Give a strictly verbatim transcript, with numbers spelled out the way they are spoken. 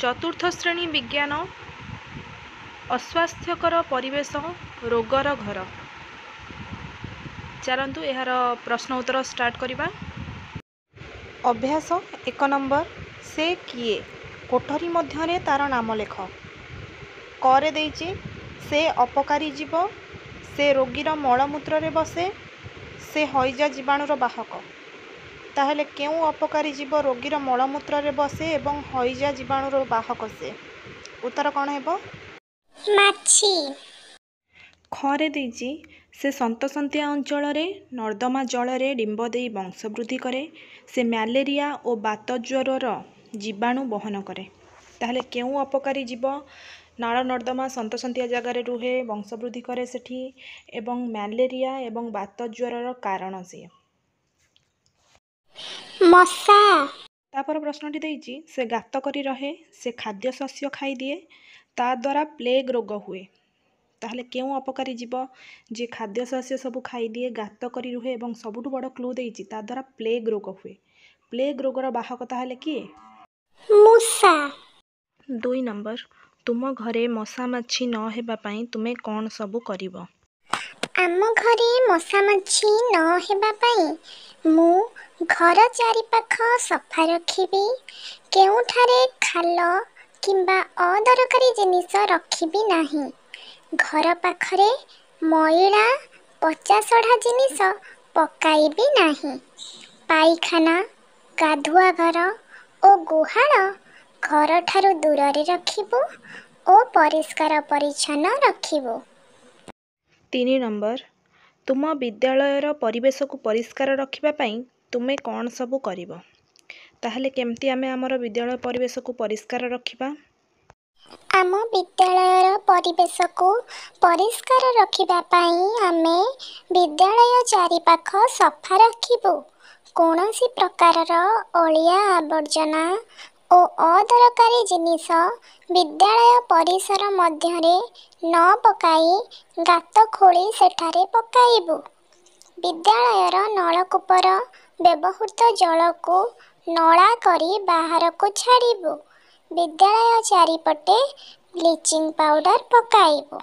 ଚତୁର୍ଥ ଶ୍ରେଣୀ ବିଜ୍ଞାନ, ଅସ୍ୱାସ୍ଥ୍ୟକର ପରିବେଶ ରୋଗର ଘର। ଚାଲନ୍ତୁ, ଏହାର ପ୍ରଶ୍ନ ଉତ୍ତର ଷ୍ଟାର୍ଟ କରିବା। ଅଭ୍ୟାସ ଏକ ନମ୍ବର, ସେ କିଏ? କୋଠରୀ ମଧ୍ୟରେ ତାର ନାମ ଲେଖ। କରେ ଦେଇଛି, ସେ ଅପକାରୀ ଜୀବ, ସେ ରୋଗୀର ମଳମୂତ୍ରରେ ବସେ, ସେ ହଇଜା ଜୀବାଣୁର ବାହକ। ତାହେଲେ କେଉଁ ଅପକାରୀ ଜୀବ ରୋଗୀର ମଳମୂତ୍ରରେ ବସେ ଏବଂ ହଇଜା ଜୀବାଣୁର ବାହକ ସେ? ଉତ୍ତର କ'ଣ ହେବ? ମାଛି। ଖରେ ଦେଇଛି, ସେ ସନ୍ତସନ୍ତିଆ ଅଞ୍ଚଳରେ ନର୍ଦ୍ଦମା ଜଳରେ ଡିମ୍ବ ଦେଇ ବଂଶବୃଦ୍ଧି କରେ, ସେ ମ୍ୟାଲେରିଆ ଓ ବାତଜ୍ୱରର ଜୀବାଣୁ ବହନ କରେ। ତାହେଲେ କେଉଁ ଅପକାରୀ ଜୀବ ନାଳ ନର୍ଦ୍ଦମା ସନ୍ତସନ୍ତିଆ ଜାଗାରେ ରୁହେ, ବଂଶବୃଦ୍ଧି କରେ ସେଠି ଏବଂ ମ୍ୟାଲେରିଆ ଏବଂ ବାତଜ୍ୱରର କାରଣ ସିଏ? ମଶା। ତାପର ପ୍ରଶ୍ନଟି ଦେଇଛି, ସେ ଗାତ କରି ରହେ, ସେ ଖାଦ୍ୟ ଶସ୍ୟ ଖାଇଦିଏ, ତା ଦ୍ୱାରା ପ୍ଲେଗ୍ ରୋଗ ହୁଏ। ତାହେଲେ କେଉଁ ଅପକାରୀ ଜୀବ ଯିଏ ଖାଦ୍ୟ ଶସ୍ୟ ସବୁ ଖାଇଦିଏ, ଗାତ କରି ରୁହେ ଏବଂ ସବୁଠୁ ବଡ଼ କ୍ଲୁ ଦେଇଛି, ତା ଦ୍ୱାରା ପ୍ଲେଗ୍ ରୋଗ ହୁଏ? ପ୍ଲେଗ୍ ରୋଗର ବାହକ ତାହେଲେ କିଏ? ମୂଷା। ଦୁଇ ନମ୍ବର, ତୁମ ଘରେ ମଶା ମାଛି ନ ହେବା ପାଇଁ ତୁମେ କ'ଣ ସବୁ କରିବ? ଆମ ଘରେ ମଶା ମାଛି ନ ହେବା ପାଇଁ ମୁଁ ଘର ଚାରିପାଖ ସଫା ରଖିବି। କେଉଁଠାରେ ଖାଲ କିମ୍ବା ଅଦରକାରୀ ଜିନିଷ ରଖିବି ନାହିଁ। ଘର ପାଖରେ ମଇଳା ପଚାସଢ଼ା ଜିନିଷ ପକାଇବି ନାହିଁ। ପାଇଖାନା, ଗାଧୁଆ ଘର ଓ ଗୁହାଳ ଘରଠାରୁ ଦୂରରେ ରଖିବୁ ଓ ପରିଷ୍କାର ପରିଚ୍ଛନ୍ନ ରଖିବୁ। ତିନି ନମ୍ବର, ତୁମ ବିଦ୍ୟାଳୟର ପରିବେଶକୁ ପରିଷ୍କାର ରଖିବା ପାଇଁ ତୁମେ କ'ଣ ସବୁ କରିବ? ତାହେଲେ କେମିତି ଆମେ ଆମର ବିଦ୍ୟାଳୟ ପରିବେଶକୁ ପରିଷ୍କାର ରଖିବା? ଆମ ବିଦ୍ୟାଳୟର ପରିବେଶକୁ ପରିଷ୍କାର ରଖିବା ପାଇଁ ଆମେ ବିଦ୍ୟାଳୟ ଚାରିପାଖ ସଫା ରଖିବୁ। କୌଣସି ପ୍ରକାରର ଅଳିଆ ଆବର୍ଜନା ଓ ଅଦରକାରୀ ଜିନିଷ ବିଦ୍ୟାଳୟ ପରିସର ମଧ୍ୟରେ ନ ପକାଇ ଗାତ ଖୋଳି ସେଠାରେ ପକାଇବୁ। ବିଦ୍ୟାଳୟର ନଳକୂପର ବ୍ୟବହୃତ ଜଳକୁ ନଳା କରି ବାହାରକୁ ଛାଡ଼ିବୁ। ବିଦ୍ୟାଳୟ ଚାରିପଟେ ବ୍ଲିଚିଂ ପାଉଡ଼ର ପକାଇବୁ।